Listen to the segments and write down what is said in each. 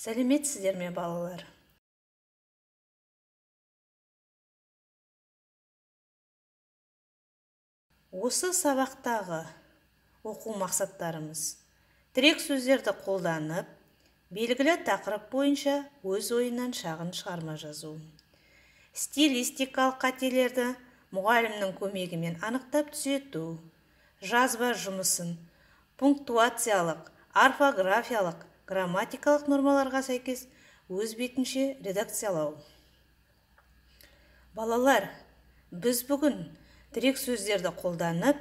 Сәлеметсіздер ме, балалар? Осы сабақтағы оқу мақсаттарымыз тірек сөздерді қолданып, белгілі тақырып бойынша өз ойынан шағын шығарма жазу. Стилистикалық қателерді мұғалімнің көмегімен анықтап түзету. Жазба жұмысын пунктуациялық, орфографиялық, грамматикалық нормаларға сәйкес өз бетінше редакциялау. Балалар, біз бүгін тірек сөздерді қолданып,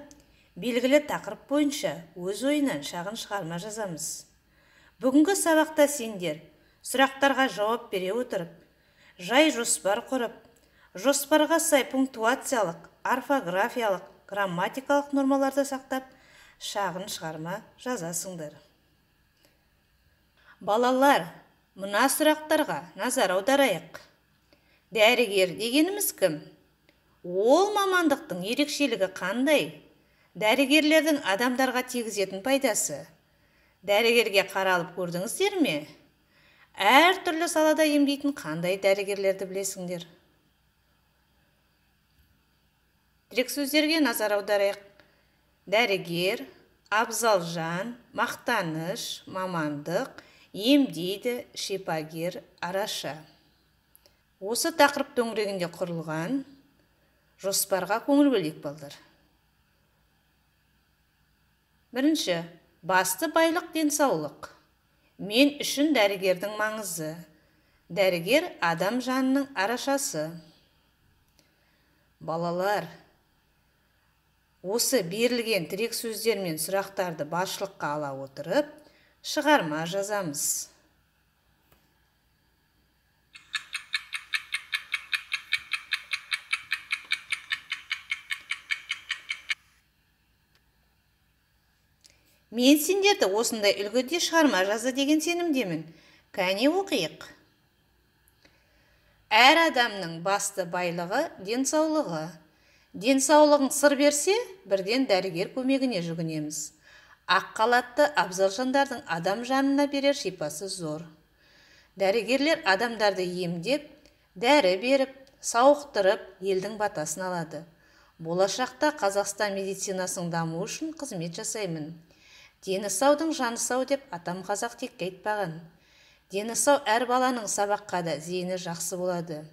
белгілі тақырып бойынша өз ойынан шағын шығарма жазамыз. Бүгінгі сабақта сендер сұрақтарға жауап бере отырып, жай жоспар құрып, жоспарға сай пунктуациялық, орфографиялық, грамматикалық нормаларды сақтап, шағын шығарма жазасыңдар. Балалар, мына сұрақтарға назар аударайық. Дәрігер дегеніміз кім? Ол мамандықтың ерекшелігі қандай? Дәрігерлердің адамдарға тигізетін пайдасы? Дәрігерге қаралып көрдіңіздер ме? Әр түрлі салада емдейтін қандай дәрігерлерді білесіңдер? Тірек сөздерге назар аударайық. Дәрігер, абзалжан, мақтаныш, мамандық, емдейді, шипагер, араша. Осы тақырып төңірегінде құрылған жоспарға көңіл бөлейік, балдар. Бірінші, басты байлық денсаулық. Мен үшін дәрігердің маңызы. Дәрігер адам жанының арашасы. Балалар, осы берілген тірек сөздер мен сұрақтарды басшылыққа ала отырып, шығарма жазамыз. Мен сендерді осындай үлгіде шығарма жазды деген сенімдемін. Кәне оқиық. Әр адамның басты байлығы денсаулығы. Денсаулығың сыр берсе, бірден дәрігер көмегіне жүгінеміз. Ақ халатты абзал жандардың адам жанына берер шипасы зор. Дәрігерлер адамдарды емдеп, дәрі беріп, сауықтырып, елдің батасын алады. Болашақта Қазақстан медицинасының дамуы үшін қызмет жасаймын. Дені саудың жаны сау деп атам қазақ текке айтпаған. Дені сау әр баланың сабаққа да зейіні жақсы болады.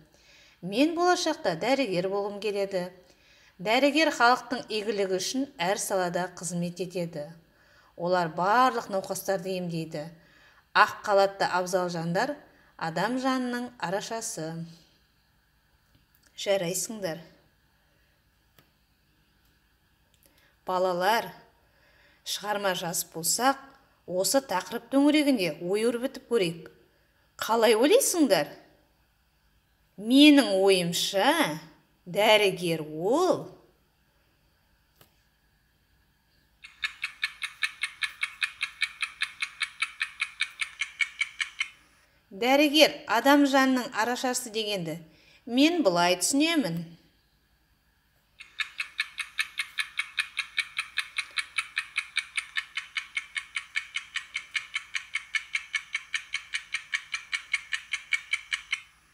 Мен болашақта дәрігер болғым келеді. Дәрігер халықтың игілігі үшін әр салада қызмет етеді. Олар барлық науқастарды емдейді. Ақ халатты абзал жандар адам жанының арашасы. Жарайсыңдар. Балалар, шығарма жазып болсақ, осы тақырып төңірегінде ой өрбітіп көрейік. Қалай ойлайсыңдар? Менің ойымша, дәрігер ол дәрігер адам жанының арашасы дегенді мен бұлай түсінемін.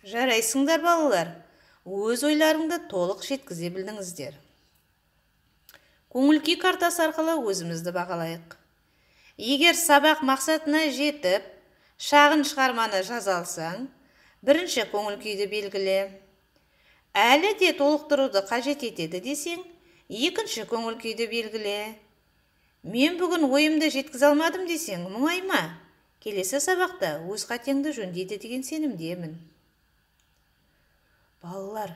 Жарайсыңдар, балалар, өз ойларыңды толық жеткізе білдіңіздер. Көңіл-күй картасы арқылы өзімізді бағалайық. Егер сабақ мақсатына жетіп, шағын шығарманы жаза алсаң, бірінші көңіл-күйді белгіле. Әлі де толықтыруды қажет етеді десең, екінші көңіл-күйді белгіле. Мен бүгін ойымды жеткізе алмадым десең, мұңайма. Келесі сабақта өз қатеңді жөндейді деген сенімдемін. Балалар,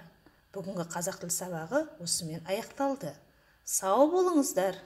бүгінгі қазақ тіл сабағы осымен аяқталды. Сау болыңыздар.